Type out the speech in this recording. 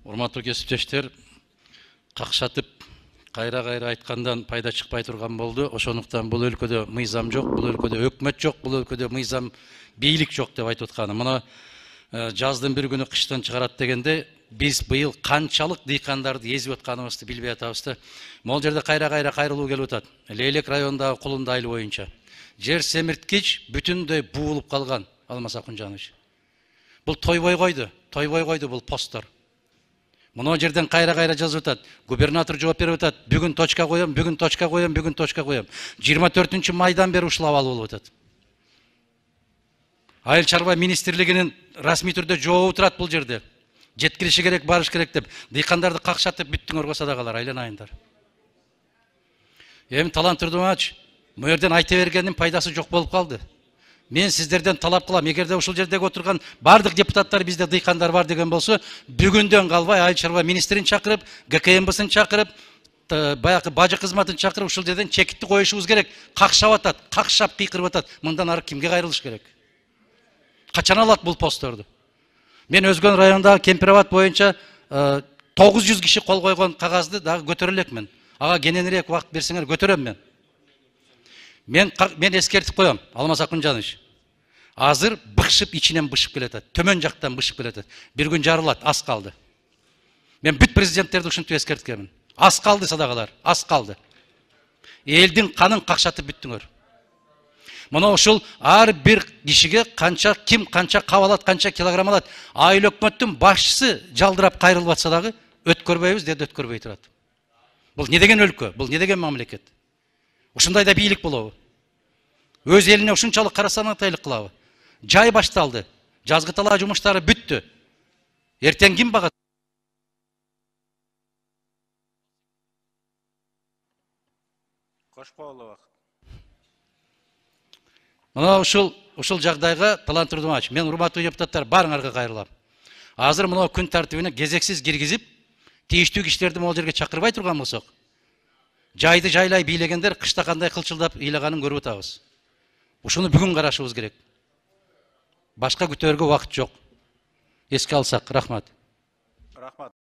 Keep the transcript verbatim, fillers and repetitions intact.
Урматтуу кесиптештер, какшатып кайра-кайра айткандан пайда чыкпай турган болду. Ошондуктан бул өлкөдө мыйзам жок, бул өлкөдө өкмөт жок, бул өлкөдө мыйзам бийлик жок деп айтып атканым. Мына жаздын бир күнү кыштан чыгарат дегенде биз быйыл канчалык дыйкандарды эзип атканыбызды билбей атабыз да. Могул жерде кайра-кайра кайрылуу келип атат. Лейлек районундагы Кулунда айыл боюнча жер семирткич бүтүндөй буулуп калган. Алмаз Акунжанович. Бул тойбой койду, тойбой койду бул посттор. Мына жерден кайра-кайра жазып атат. Губернатор жооп берип атат. Бүгүн точка коем, бүгүн точка коем, бүгүн точка коем. жыйырма төртүнчү майдан бери ушул абал болуп атат. Айыл чарба министрлигинин расмий түрдө жообу турат бул жерде. Жеткириши керек, барыш керек деп. Дыйкандарды какшатып бүттүңөр косадагылар, айланайындар. Эми Талант Турдумач, бу жерден айта бергендин пайдасы жок болуп калды. Мен сиздерден талап кылам, эгерде ушул жердеги отурган бардык депутаттар бизде дыйкандар бар деген болсо, бүгүндөн калбай айыл чарба министрин чакырып, гэ ка эм бысын чакырып, баягы бажы кызматын чакырып ушул жерден чекитти коюшубуз керек. Какшап атат, какшап кыйкырып атат. Мындан ары кимге кайрылыш керек? Качан алат бул постторду? Мен Өзгөн районундагы Кемпирабад боюнча тогуз жүз киши кол койгон кагазды дагы көтөрө элекмин. Ага кененирээк убакыт берсеңер көтөрөм мен. Мен мен эскертип коем, Алмаз Акунжанович. Азыр бышып ичинен бышып келатат. Төмөн жактан бышып келатат. Бир күн жарылат, аз калды. Мен бүт президенттерди ушинтип эскерткенмин. Аз калды садагалар, аз калды. Элдин канын какшатып бүттүңөр. Мына ушул ар бир кишиге канча ким канча кап алат, канча килограмм алат. Айыл өкмөттүн башчысы жалдырап кайрылып атса дагы өткөрбөйбүз деди, өткөрбөй турат. Бул не деген өлкө? Бул не деген мамлекет? Ушундай да бийлик болобу? Өз элине ушунчалык карасанатайлык кылабы? Жай башталды. Жазгы талаа жумуштары бүттү. Эртең ким багат? Кошпоолу убакыт. Мына ушул ушул жагдайга Талант Турдумач, мен урматтуу депутаттар баарыңарга кайрылам. Азыр мына күн тартибине кезексиз киргизип, тийиштүү кишилерди могул жерге чакырбай турган болсок, жайды жайлай бийлегендер кышта кандай кылчылдап ыйлаганын көрүп атабыз. Ушуну бүгүн карашыбыз керек. Башка күтөөргө убакыт жок. Эске алсак, рахмат. Рахмат.